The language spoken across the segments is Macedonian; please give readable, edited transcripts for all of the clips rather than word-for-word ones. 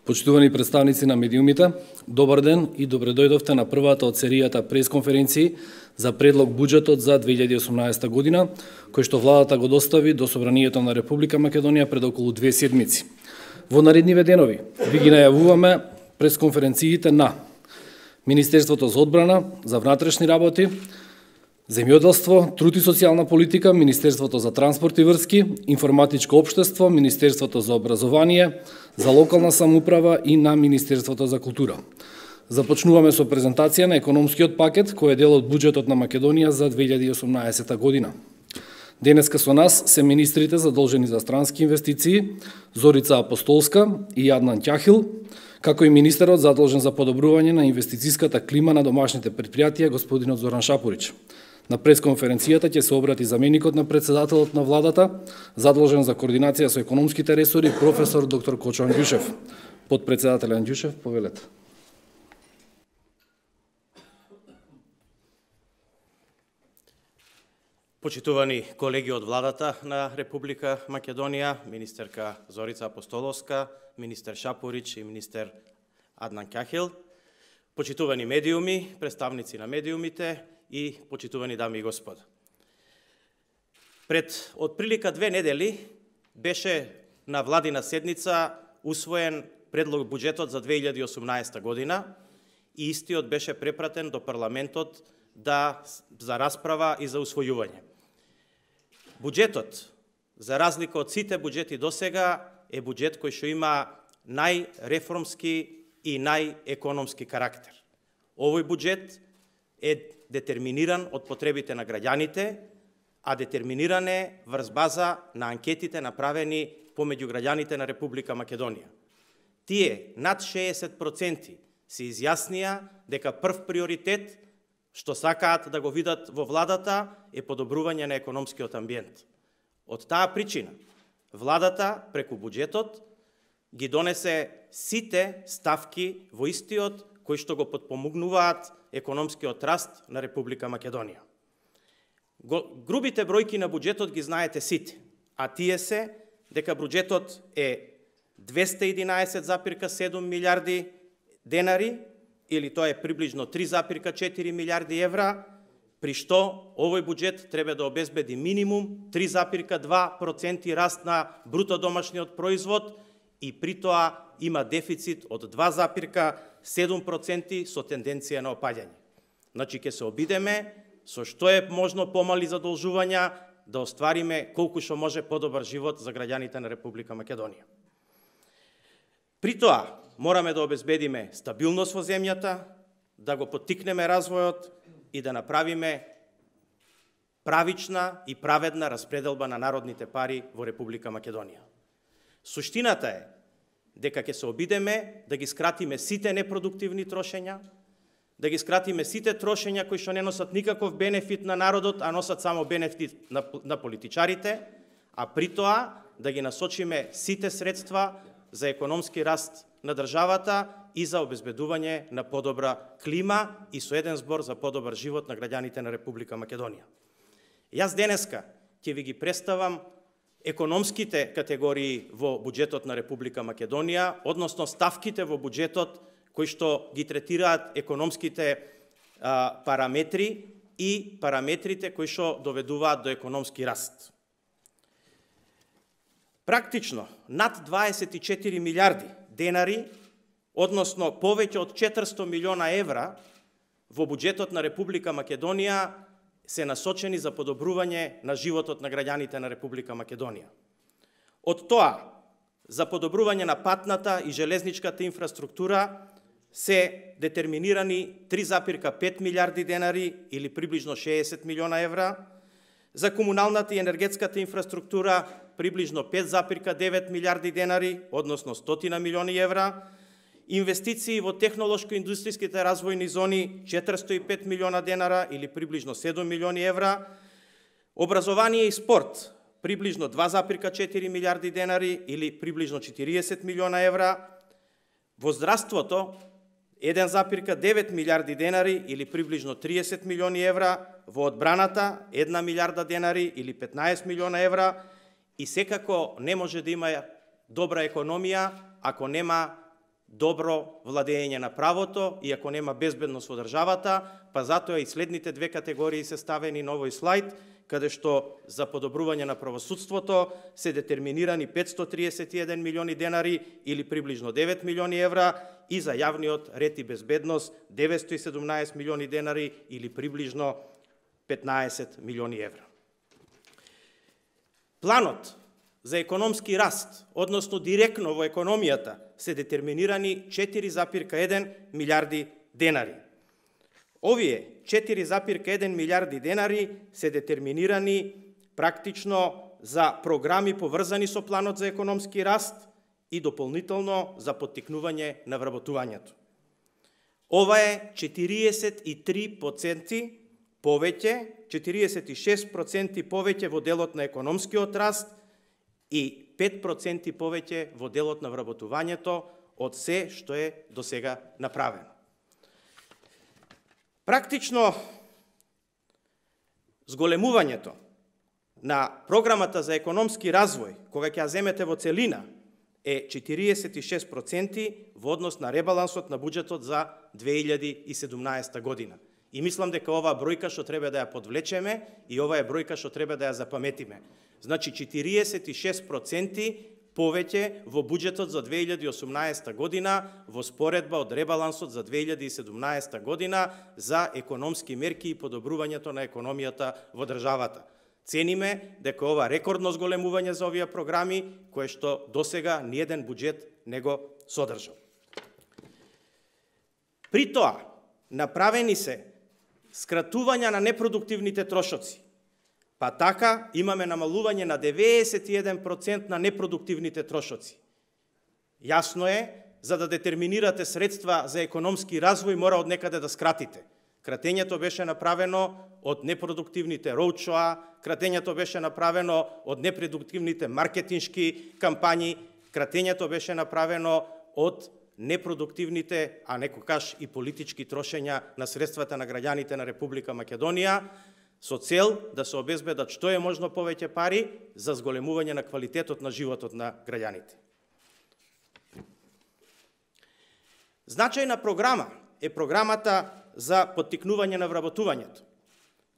Почитувани представници на медиумите, добар ден и добре дојдовте на првата од серијата пресконференции за предлог буџетот за 2018 година, кој што владата го достави до Собранието на Република Македонија пред околу 2 седмици. Во наредниве денови ви ги најавуваме пресконференциите на Министерството за одбрана, за внатрешни работи, земјоделство, труд и социјална политика, Министерството за транспорт и врски, информатичко општество, Министерството за образование, за локална самоуправа и на Министерството за култура. Започнуваме со презентација на економскиот пакет, кој е дел од буџетот на Македонија за 2018 година. Денеска со нас се министрите задолжени за странски инвестиции, Зорица Апостолска и Аднан Ќахил, како и министерот задолжен за подобрување на инвестицијската клима на домашните предпријатија, господинот Зоран Шапурич. На пресконференцијата ќе се обрати заменикот на председателот на владата, задолжен за координација со економските ресори, професор доктор Кочо Анѓушев. Подпредседател Анѓушев, повелете. Почитувани колеги од владата на Република Македонија, министерка Зорица Апостоловска, министер Шапурич и министер Аднан Ќахил, почитувани медиуми, представници на медиумите и почитувани дами и господа. Пред отприлика 2 недели беше на владина седница усвоен предлог буџетот за 2018 година и истиот беше препратен до парламентот за расправа и за усвојување. Буџетот, за разлика од сите буџети досега, е буџет кој што има најреформски и најекономски карактер. Овој буџет е детерминиран од потребите на граѓаните, а детерминиран е врз база на анкетите направени помеѓу граѓаните на Република Македонија. Тие над 60% се изјаснија дека прв приоритет што сакаат да го видат во владата е подобрување на економскиот амбиент. Од таа причина, владата преку буџетот ги донесе сите ставки во истиот кои што го потпомогнуваат економскиот раст на Република Македонија. Грубите бројки на буџетот ги знаете сите, а тие се дека буџетот е 211,7 милиарди денари, или тоа е приближно 3,4 милиарди евра, при што овој буџет треба да обезбеди минимум 3,2% раст на бруто домашниот производ и при тоа има дефицит од 2,7% со тенденција на опаѓање. Значи, ќе се обидеме со што е можно помали задолжувања да оствариме колку што може подобар живот за граѓаните на Република Македонија. При тоа, мораме да обезбедиме стабилност во земјата, да го поттикнеме развојот и да направиме правична и праведна распределба на народните пари во Република Македонија. Суштината е дека ќе се обидеме да ги скратиме сите непродуктивни трошења, да ги скратиме сите трошења кои што не носат никаков бенефит на народот, а носат само бенефит на политичарите, а при тоа да ги насочиме сите средства за економски раст на државата и за обезбедување на подобра клима и со еден збор за подобар живот на граѓаните на Република Македонија. Јас денеска ќе ви ги представам економските категории во буџетот на Република Македонија, односно ставките во буџетот кои што ги третираат економските параметри и параметрите кои што доведуваат до економски раст. Практично, над 24 милиарди денари, односно повеќе од 400 милиона евра во буџетот на Република Македонија се насочени за подобрување на животот на граѓаните на Република Македонија. Од тоа, за подобрување на патната и железничката инфраструктура се детерминирани 3,5 милиарди денари или приближно 60 милиона евра, за комуналната и енергетската инфраструктура приближно 5,9 милиарди денари, односно 100 милиони евра, инвестиции во технолошко-индустријските развојни зони 405 милиона денара или приближно 7 милиони евра, образование и спорт приближно 2,4 милиарди денари или приближно 40 милиона евра, во здравството 1,9 милиарди денари или приближно 30 милиони евра, во одбраната 1 милиарда денари или 15 милиона евра и секако не може да има добра економија ако нема добро владење на правото, и ако нема безбедност во државата, па затоа и следните две категории се ставени на овој слайд, каде што за подобрување на правосудството се детерминирани 531 милиони денари или приближно 9 милиони евра, и за јавниот ред и безбедност 917 милиони денари или приближно 15 милиони евра. Планот за економски раст, односно директно во економијата, се детерминирани 4,1 милиарди денари. Овие 4,1 милиарди денари се детерминирани практично за програми поврзани со планот за економски раст и дополнително за поттикнување на вработувањето. Ова е 43% повеќе, 46% повеќе во делот на економскиот раст и 5% повеќе во делот на вработувањето од се што е досега направено. Практично, зголемувањето на програмата за економски развој, кога ќе ја земете во целина, е 46% во однос на ребалансот на буџетот за 2017 година. И мислам дека оваа бројка што треба да ја подвлечеме и ова е бројка што треба да ја запаметиме. Значи 46% повеќе во буџетот за 2018 година во споредба од ребалансот за 2017 година за економски мерки и подобрувањето на економијата во државата. Цениме дека ова рекордно зголемување за овие програми, кое што досега ниеден буџет не го содржал. При тоа, направени се скратувања на непродуктивните трошоци, па така имаме намалување на 91% на непродуктивните трошоци. Јасно е, за да детерминирате средства за економски развој, мора од некаде да скратите. Кратењето беше направено од непродуктивните роудшоа, кратењето беше направено од непродуктивните маркетиншки кампањи, кратењето беше направено од непродуктивните, а некогаш и политички трошења на средствата на граѓаните на Република Македонија, со цел да се обезбедат што е можно повеќе пари за зголемување на квалитетот на животот на граѓаните. Значајна програма е програмата за поттикнување на вработувањето.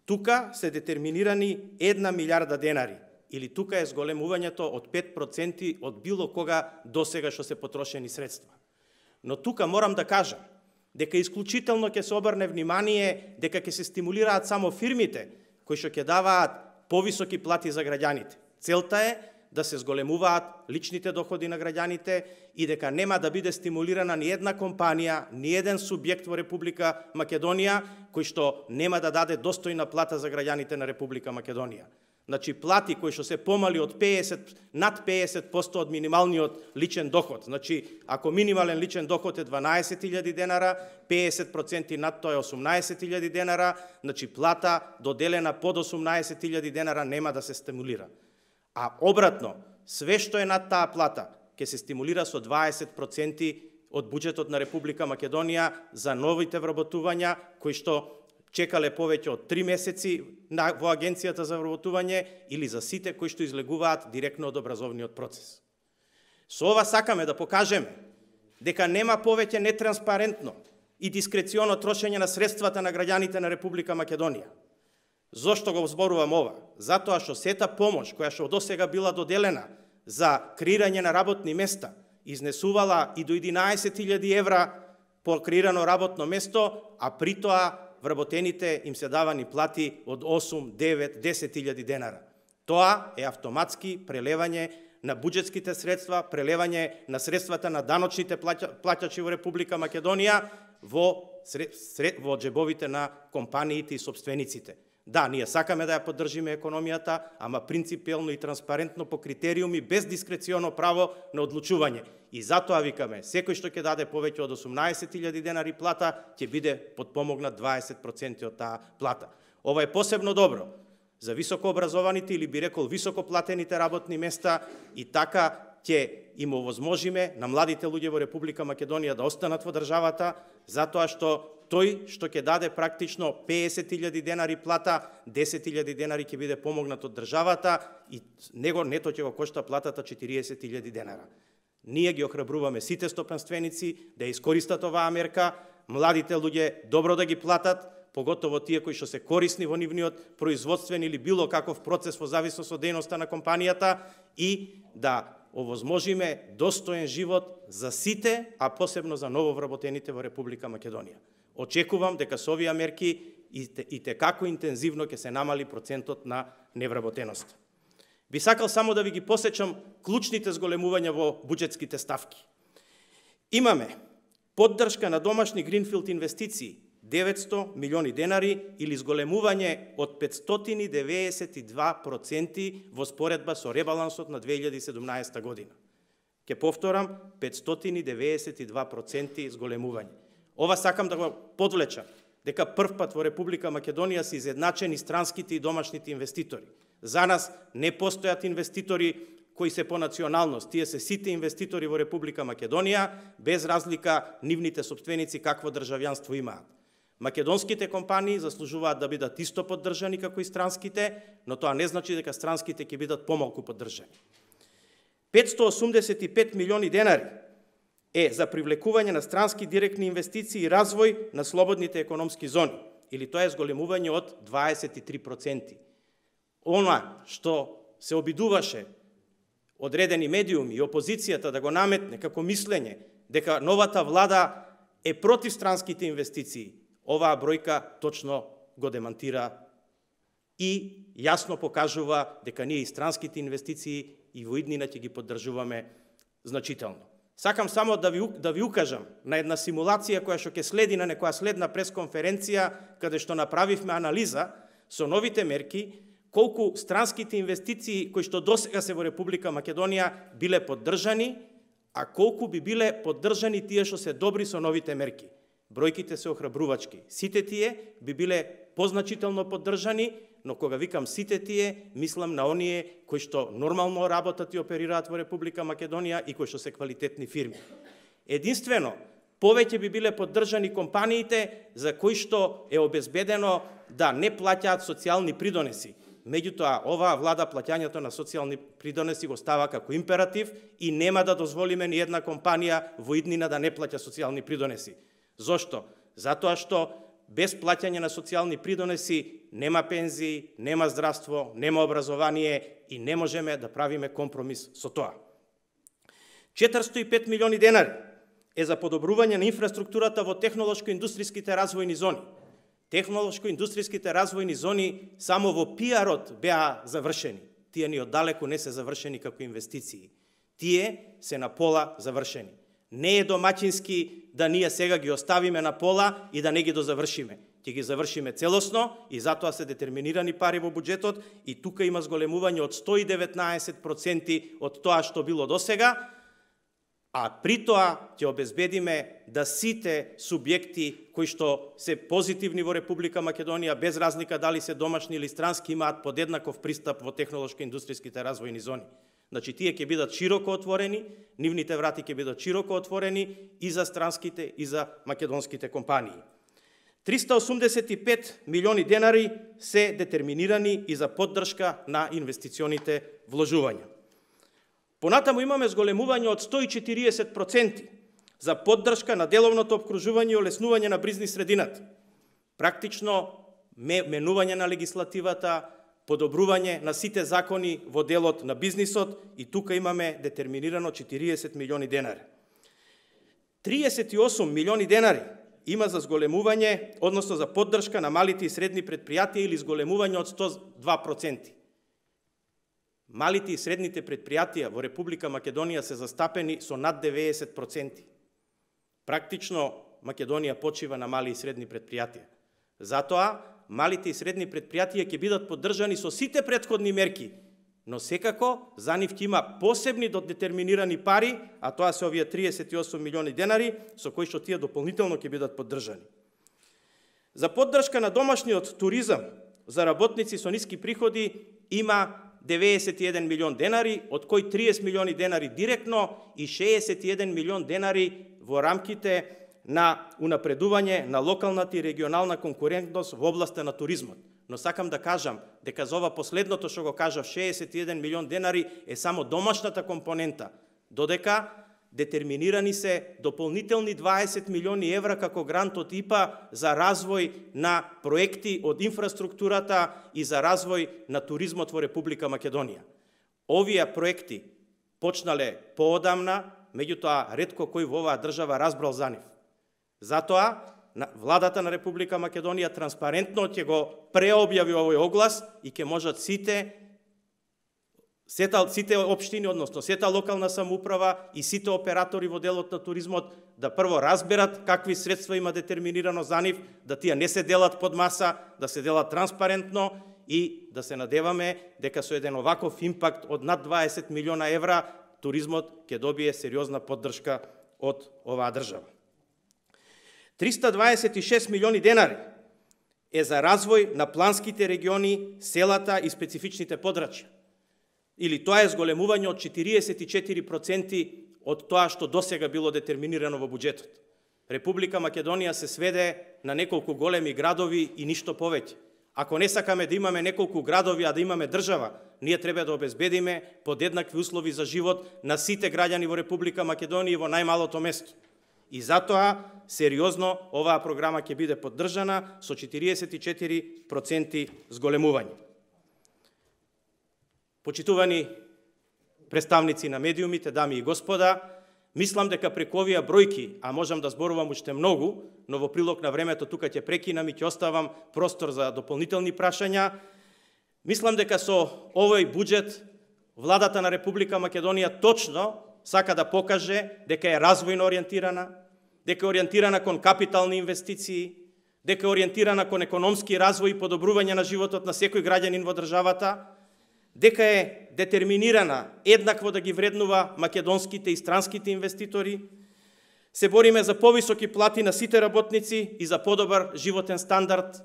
Тука се детерминирани 1 милиарда денари, или тука е зголемувањето од 5% од било кога досега што се потрошени средства. Но тука морам да кажам дека исклучително ќе се обрне внимание дека ќе се стимулираат само фирмите кои што ќе даваат повисоки плати за граѓаните. Целта е да се зголемуваат личните доходи на граѓаните и дека нема да биде стимулирана ни една компанија, ни еден субјект во Република Македонија кој што нема да даде достојна плата за граѓаните на Република Македонија. Значи плати кои што се помали од 50, над 50% од минималниот личен доход. Значи, ако минимален личен доход е 12.000 денара, 50% над тоа е 18.000 денара, значи плата доделена под 18.000 денара нема да се стимулира. А обратно, све што е над таа плата ќе се стимулира со 20% од буџетот на Република Македонија за новите вработувања кои што чекале повеќе од 3 месеци во Агенцијата за вработување или за сите кои што излегуваат директно од образовниот процес. Со ова сакаме да покажеме дека нема повеќе нетранспарентно и дискреционо трошење на средствата на граѓаните на Република Македонија. Зошто го зборувам ова? Затоа што сета помош која што досега била доделена за креирање на работни места изнесувала и до 11.000 евра по креирано работно место, а при тоа вработените им се давани плати од 8, 9, 10.000 денара. Тоа е автоматски прелевање на буџетските средства, прелевање на средствата на даночните плаќачи во Република Македонија во џебовите на компаниите и собствениците. Да, ние сакаме да ја поддржиме економијата, ама принципиелно и транспарентно по критериуми, без дискреционо право на одлучување. И затоа викаме, секој што ќе даде повеќе од 18.000 денари плата, ќе биде подпомогнат 20% од таа плата. Ова е посебно добро за високообразованите или би рекол високоплатените работни места и така ќе им овозможиме на младите луѓе во Република Македонија да останат во државата, затоа што тој што ќе даде практично 50.000 денари плата, 10.000 денари ќе биде помогнат од државата и него нето ќе го кошта платата 40.000 денара. Ние ги охрабруваме сите стопанственици да искористат оваа мерка, младите луѓе добро да ги платат, поготово тие кои што се корисни во нивниот производствен или било каков процес во зависност од дејноста на компанијата и да овозможиме достоен живот за сите, а посебно за нововработените во Република Македонија. Очекувам дека со овие мерки и како интензивно ќе се намали процентот на невработеност. Би сакал само да ви ги посечам клучните зголемувања во буџетските ставки. Имаме поддршка на домашни гринфилд инвестиции 900 милиони денари или зголемување од 592% во споредба со ребалансот на 2017 година. Ке повторам, 592% зголемување. Ова сакам да го подвлечам, дека прв пат во Република Македонија се изедначени странските и домашните инвеститори. За нас не постојат инвеститори кои се по националност. Тие се сите инвеститори во Република Македонија, без разлика нивните сопственици какво државјанство имаат. Македонските компании заслужуваат да бидат исто поддржани како и странските, но тоа не значи дека странските ќе бидат помалку поддржани. 585 милиони денари е за привлекување на странски директни инвестиции и развој на слободните економски зони, или тоа е зголемување од 23%. Она што се обидуваше одредени медиуми и опозицијата да го наметне како мислење дека новата влада е против странските инвестиции, оваа бројка точно го демантира и јасно покажува дека ние и странските инвестиции и во иднина ќе ги поддржуваме значително. Сакам само да ви укажам на една симулација која што ќе следи на некоја следна пресконференција, каде што направивме анализа со новите мерки, колку странските инвестиции кои што досега се во Република Македонија биле поддржани, а колку би биле поддржани тие што се добри со новите мерки. Бројките се охрабрувачки. Сите тие би биле позначително поддржани, но кога викам сите тие, мислам на оние кои што нормално работат и оперираат во Република Македонија и кои што се квалитетни фирми. Единствено, повеќе би биле поддржани компаниите за кои што е обезбедено да не плаќаат социјални придонеси. Меѓутоа, оваа влада плаќањето на социјални придонеси го става како императив и нема да дозволиме ни една компанија во иднина да не плаќа социјални придонеси. Зошто? Затоа што без плаќање на социјални придонеси нема пензии, нема здравство, нема образование и не можеме да правиме компромис со тоа. 405 милиони денари е за подобрување на инфраструктурата во технолошко-индустријските развојни зони. Технолошко-индустријските развојни зони само во пиарот беа завршени. Тие ни оддалеку не се завршени како инвестиции. Тие се на пола завршени. Не е домаќински да ние сега ги оставиме на пола и да не ги дозавршиме. Ќе ги завршиме целосно и затоа се детерминирани пари во буџетот и тука има зголемување од 119% од тоа што било досега, а при тоа ќе обезбедиме да сите субјекти кои што се позитивни во Република Македонија, без разлика дали се домашни или странски, имаат подеднаков пристап во технолошко-индустријските развојни зони. Значи, тие ќе бидат широко отворени, нивните врати ќе бидат широко отворени и за странските и за македонските компании. 385 милиони денари се детерминирани и за поддршка на инвестиционите вложувања. Понатаму имаме зголемување од 140% за поддршка на деловното обкружување и олеснување на бизнис средината. Практично менување на легислативата, подобрување на сите закони во делот на бизнисот и тука имаме детерминирано 40 милиони денари. 38 милиони денари има за зголемување, односно за поддршка на малите и средни предпријатија или зголемување од 102%. Малите и средните предпријатија во Република Македонија се застапени со над 90%. Практично Македонија почива на мали и средни предпријатија. Затоа малите и средни предпријатија ќе бидат поддржани со сите претходни мерки, но секако за нив ќе има посебни детерминирани пари, а тоа се овие 38 милиони денари, со кои што тие дополнително ќе бидат поддржани. За поддршка на домашниот туризам за работници со ниски приходи има 91 милион денари, од кои 30 милиони денари директно и 61 милион денари во рамките на унапредување на локалната и регионална конкурентност во областа на туризмот. Но сакам да кажам дека за ова последното што го кажав, 61 милион денари е само домашната компонента, додека детерминирани се дополнителни 20 милиони евра како грант од ИПА за развој на проекти од инфраструктурата и за развој на туризмот во Република Македонија. Овие проекти почнале поодамна, меѓутоа ретко кој во оваа држава разбрал за нив. Затоа владата на Република Македонија транспарентно ќе го преобјави овој оглас и ќе можат сите општини, односно сета локална самоуправа и сите оператори во делот на туризмот да прво разберат какви средства има детерминирано за нив, да тие не се делат под маса, да се делат транспарентно и да се надеваме дека со еден оваков импакт од над 20 милиона евра туризмот ќе добие сериозна поддршка од оваа држава. 326 милиони денари е за развој на планските региони, селата и специфичните подрачја. Или тоа е зголемување од 44% од тоа што досега било детерминирано во буџетот. Република Македонија се сведе на неколку големи градови и ништо повеќе. Ако не сакаме да имаме неколку градови, а да имаме држава, ние треба да обезбедиме подеднакви услови за живот на сите граѓани во Република Македонија во најмалото место. И затоа, сериозно, оваа програма ќе биде поддржана со 44% зголемување. Почитувани представници на медиумите, дами и господа, мислам дека преку овие бројки, а можам да зборувам уште многу, но во прилог на времето тука ќе прекинам и ќе оставам простор за дополнителни прашања, мислам дека со овој буџет владата на Република Македонија точно сака да покаже дека е развојно ориентирана, дека е ориентирана кон капитални инвестиции, дека е ориентирана кон економски развој и подобрување на животот на секој граѓанин во државата, дека е детерминирана еднакво да ги вреднува македонските и странските инвеститори, се бориме за повисоки плати на сите работници и за подобар животен стандард.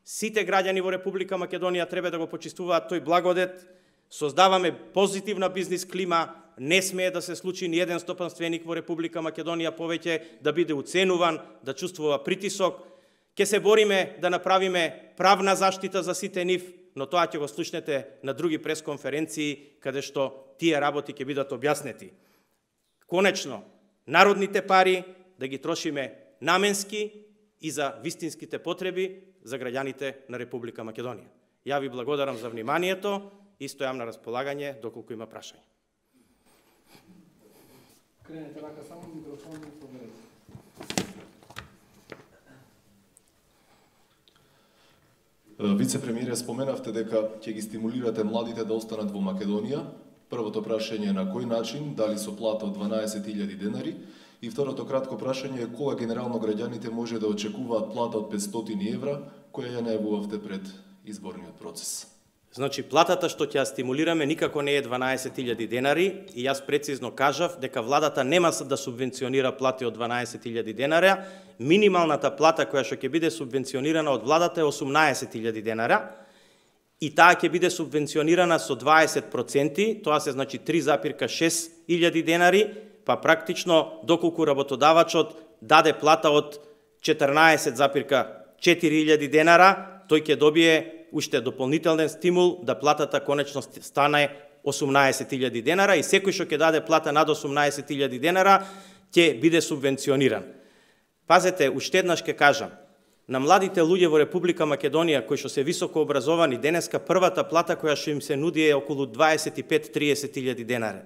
Сите граѓани во Република Македонија треба да го почистуваат тој благодет, создаваме позитивна бизнис клима, не смее да се случи ни еден стопанственик во Република Македонија повеќе да биде уценуван, да чувствува притисок. Ке се бориме да направиме правна заштита за сите нив, но тоа ќе го слушнете на други пресконференции, каде што тие работи ќе бидат објаснети. Конечно, народните пари да ги трошиме наменски и за вистинските потреби за граѓаните на Република Македонија. Ја ви благодарам за вниманието и стојам на располагање доколку има прашања. Кренете рака само микрофон и проверете. Вице-премиере, споменавте дека ќе ги стимулирате младите да останат во Македонија. Првото прашање е на кој начин, дали со плата од 12.000 денари, и второто кратко прашање е кога генерално граѓаните може да очекуваат плата од 500 евра, која ја најавувавте пред изборниот процес. Значи, платата што ќе ја стимулираме никако не е 12.000 денари и јас прецизно кажав дека владата нема да субвенционира плати од 12.000 денара. Минималната плата која што ќе биде субвенционирана од владата е 18.000 денара и таа ќе биде субвенционирана со 20%, тоа се значи 3,6 денари, па практично доколку работодавачот даде плата од 14,4 денара, тој ќе добие уште дополнителен стимул да платата конечно стане 18.000 денара и секој што ќе даде плата над 18.000 денара ќе биде субвенциониран. Пазете, уште еднаш ќе кажам, на младите луѓе во Република Македонија кои што се високо образовани, денеска првата плата која што им се нуди е околу 25-30.000 денара.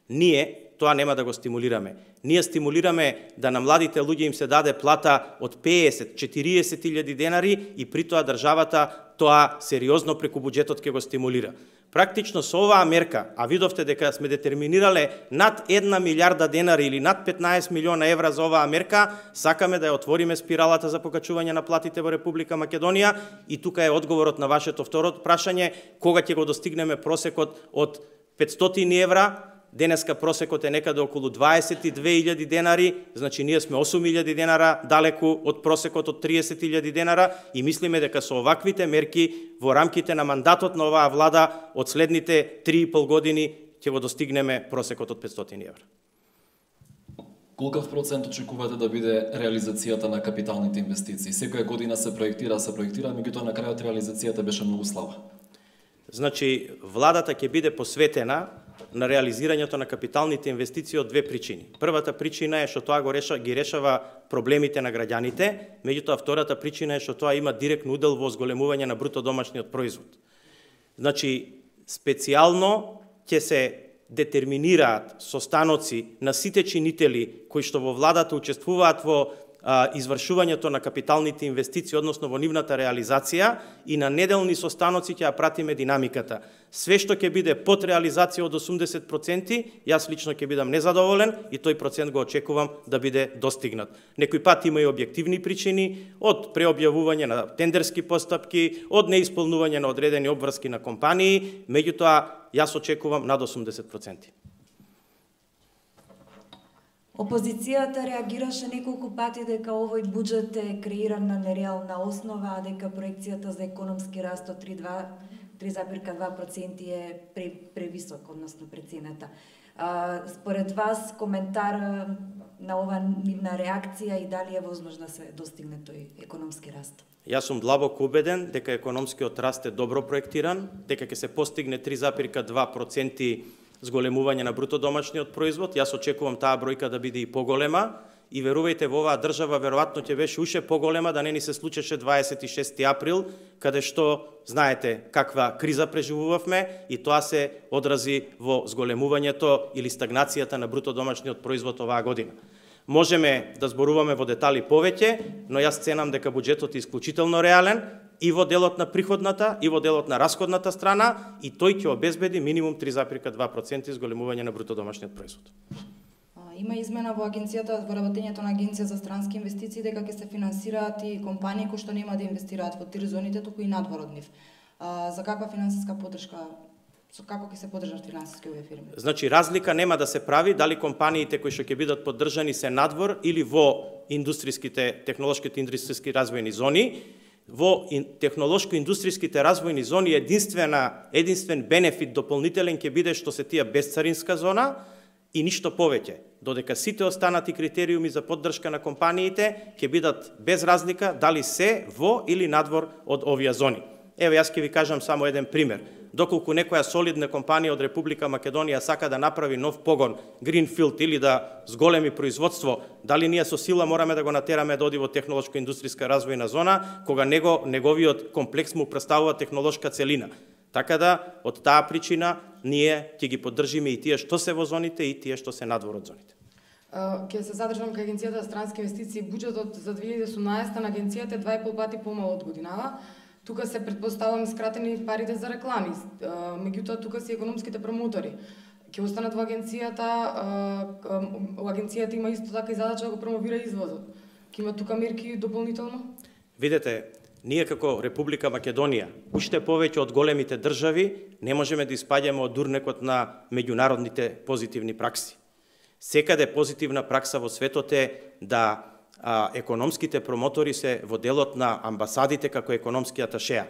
Ние тоа нема да го стимулираме. Ние стимулираме да на младите луѓе им се даде плата од 50-40.000 денари и при тоа државата тоа сериозно преку буџетот ќе го стимулира. Практично со оваа мерка, а видовте дека сме детерминирале над 1 милиарда денари или над 15 милиона евра за оваа мерка, сакаме да ја отвориме спиралата за покачување на платите во Република Македонија и тука е одговорот на вашето второ прашање, кога ќе го достигнеме просекот од 500 евра. Денеска просекот е некаде околу 22.000 денари, значи ние сме 8.000 денара далеку од просекот од 30.000 денара и мислиме дека со оваквите мерки во рамките на мандатот на оваа влада од следните 3,5 години ќе го достигнеме просекот од 500 евра. Колкав процент очекувате да биде реализацијата на капиталните инвестиции? Секоја година се проектира, меѓутоа на крајот реализацијата беше многу слаба. Значи, владата ќе биде посветена на реализирањето на капиталните инвестиции од две причини. Првата причина е што тоа ги решава проблемите на граѓаните, меѓутоа втората причина е што тоа има директно удел во зголемување на бруто домашниот производ. Значи, специјално ќе се детерминираат состаноци на сите чинители кои што во владата учествуваат во извршувањето на капиталните инвестиции, односно во нивната реализација, и на неделни состаноци ќе ја пратиме динамиката. Све што ќе биде под реализација од 80%, јас лично ќе бидам незадоволен и тој процент го очекувам да биде достигнат. Некој пат има и објективни причини, од преобјавување на тендерски постапки, од неисполнување на одредени обврски на компании, меѓутоа јас очекувам над 80%. Опозицијата реагираше неколку пати дека овој буџет е креиран на нереална основа, а дека проекцијата за економски раст од 3,2% е превисок, односно преценета. Според вас, коментар на ова нивна реакција и дали е возможно да се достигне тој економски раст? Јас сум длабоко убеден дека економскиот раст е добро проектиран, дека ќе се постигне 3,2% зголемување на бруто домашниот производ. Јас очекувам таа бројка да биде и поголема и верувајте, во оваа држава веројатно ќе беше уште поголема да не ни се случеше 26 април, каде што знаете каква криза преживувавме и тоа се одрази во зголемувањето или стагнацијата на бруто домашниот производ оваа година. Можеме да зборуваме во детали повеќе, но јас ценам дека буџетот е исклучително реален и во делот на приходната, и во делот на расходната страна, и тој ќе обезбеди минимум 3,2% зголемување на бруто домашниот производ. Има измена во агенцијата, во работењето на агенција за странски инвестиции, дека ќе се финансираат и компании кои што нема да инвестираат во тир зоните, туку и надвор од нив. За каква финансиска поддршка, како ќе се поддржат финансиски овие фирми? Значи, разлика нема да се прави дали компаниите кои што ќе бидат поддржани се надвор или во технолошките индустријски развојни зони. Во технолошко-индустријските развојни зони единствен бенефит дополнителен ќе биде што се тие безцаринска зона и ништо повеќе. Додека сите останати критериуми за поддршка на компаниите ќе бидат без разлика дали се во или надвор од овие зони. Еве, јас ќе ви кажам само еден пример. Доколку некоја солидна компанија од Република Македонија сака да направи нов погон, Greenfield, или да зголеми производство, дали ние со сила мораме да го натераме да оди во технолошко-индустријска развојна зона, кога неговиот комплекс му представува технолошка целина. Така да, од таа причина, ние ќе ги поддржиме и тие што се во зоните и тие што се надвор од зоните. Ќе се задржам кај агенцијата за странски инвестиции. Буџетот за 2018 на агенцијата е 2,5 пати помал од годинава. Тука се предпоставам скратени парите за реклами, меѓутоа тука се економските промотори. Ќе останат во агенцијата има исто така и задача да го промовира извозот. Ќе има тука мерки дополнително? Видете, ние како Република Македонија, уште повеќе од големите држави, не можеме да испаѓаме од дурнекот на меѓународните позитивни пракси. Секаде позитивна пракса во светот е да економските промотори се во делот на амбасадите како економски аташеа.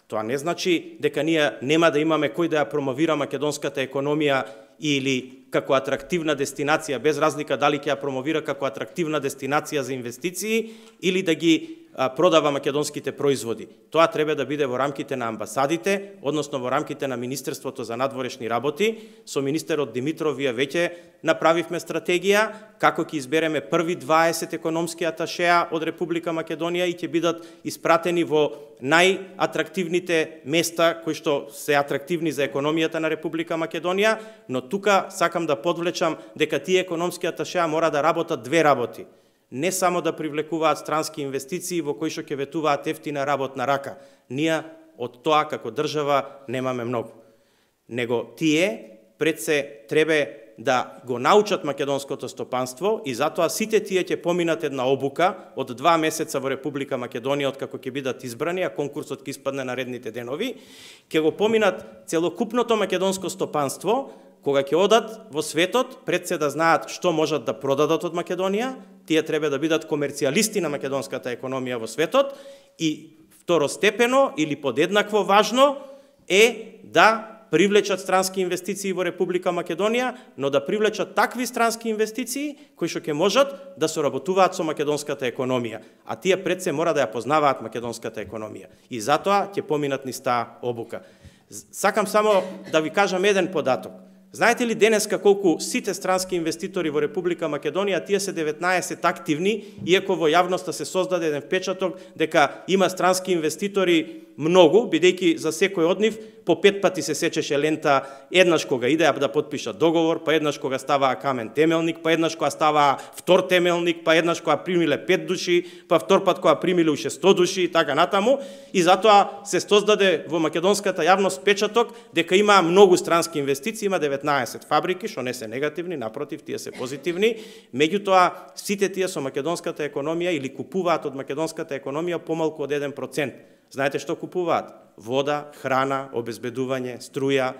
Тоа не значи дека ние нема да имаме кој да ја промовира македонската економија или како атрактивна дестинација, без разлика дали ќе ја промовира како атрактивна дестинација за инвестиции или да ги продава македонските производи. Тоа треба да биде во рамките на амбасадите, односно во рамките на Министерството за надворешни работи. Со министерот Димитров вие веќе направивме стратегија како ќе избереме први 20 економски аташеа од Република Македонија и ќе бидат испратени во најатрактивните места кои што се атрактивни за економијата на Република Македонија, но тука сакам да подвлечам дека тие економски аташеа мора да работат две работи. Не само да привлекуваат странски инвестиции во кои што ќе ветуваат ефтина работна рака. Ние од тоа како држава немаме многу. Него тие пред се треба да го научат македонското стопанство и затоа сите тие ќе поминат една обука од 2 месеца во Република Македонија откако ќе бидат избрани, а конкурсот ќе испадне наредните денови, ќе го поминат целокупното македонско стопанство. Кога ќе одат во светот, пред се да знаат што можат да продадат од Македонија, тие треба да бидат комерцијалисти на македонската економија во светот и второстепено или подеднакво важно е да привлечат странски инвестиции во Република Македонија, но да привлечат такви странски инвестиции кои што ќе можат да соработуваат со македонската економија, а тие пред се мора да ја познаваат македонската економија и затоа ќе поминат низ таа обука. Сакам само да ви кажам еден податок. Знаете ли денеска колку сите странски инвеститори во Република Македонија, тие се 19 активни, иако во јавноста се создаде еден впечаток дека има странски инвеститори многу, бидејќи за секој од нив по 5 пати се сечеше лента, еднаш кога идеа да потпишат договор, па еднаш кога ставаа камен темелник, па еднаш кога ставаа втор темелник, па еднаш кога примиле 5 души, па втор пат кога примиле уште 100 души и така натаму, и затоа се создаде во македонската јавност впечаток дека има многу странски инвестиции, има 19 фабрики, што не се негативни, напротив, тие се позитивни, меѓутоа сите тие со македонската економија или купуваат од македонската економија помалку од 1%. Знаете што купуваат? Вода, храна, обезбедување, струја,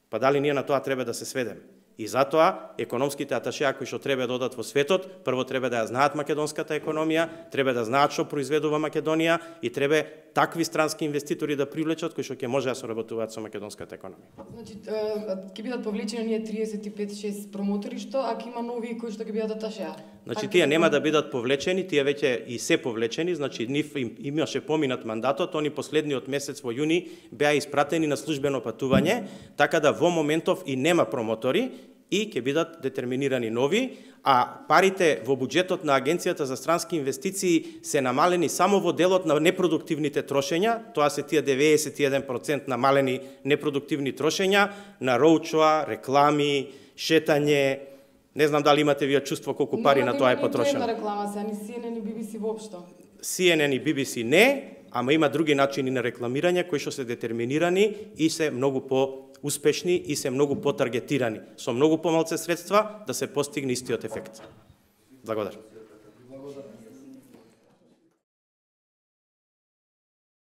па дали ние на тоа треба да се сведеме? И затоа економските аташеа кои што треба да одат во светот, прво треба да ја знаат македонската економија, треба да знаат што произведува Македонија и треба такви странски инвеститори да привлечат кои што ќе може да соработуваат со македонската економија. Значи, ќе бидат повлечени ние 35-6 промотори што, ако има нови кои што ќе бидат аташеа? Значи, тие нема да бидат повлечени, тие веќе и се повлечени, значи нив имаше поминат мандатот, они последниот месец во јуни беа испратени на службено патување, така да во моментов и нема промотори и ќе бидат детерминирани нови, а парите во буџетот на Агенцијата за странски инвестиции се намалени само во делот на непродуктивните трошења, тоа се тие 91% намалени непродуктивни трошења на роучоа, реклами, шетање. Не знам дали имате вие чувство колку пари на тоа е потрошено. Нема реклама се, ни CNN и BBC воопшто. CNN и BBC не, ама има други начини на рекламирање кои што се детерминирани и се многу по-успешни и се многу по-таргетирани. Со многу помалце средства да се постигне истиот ефект. Благодарам.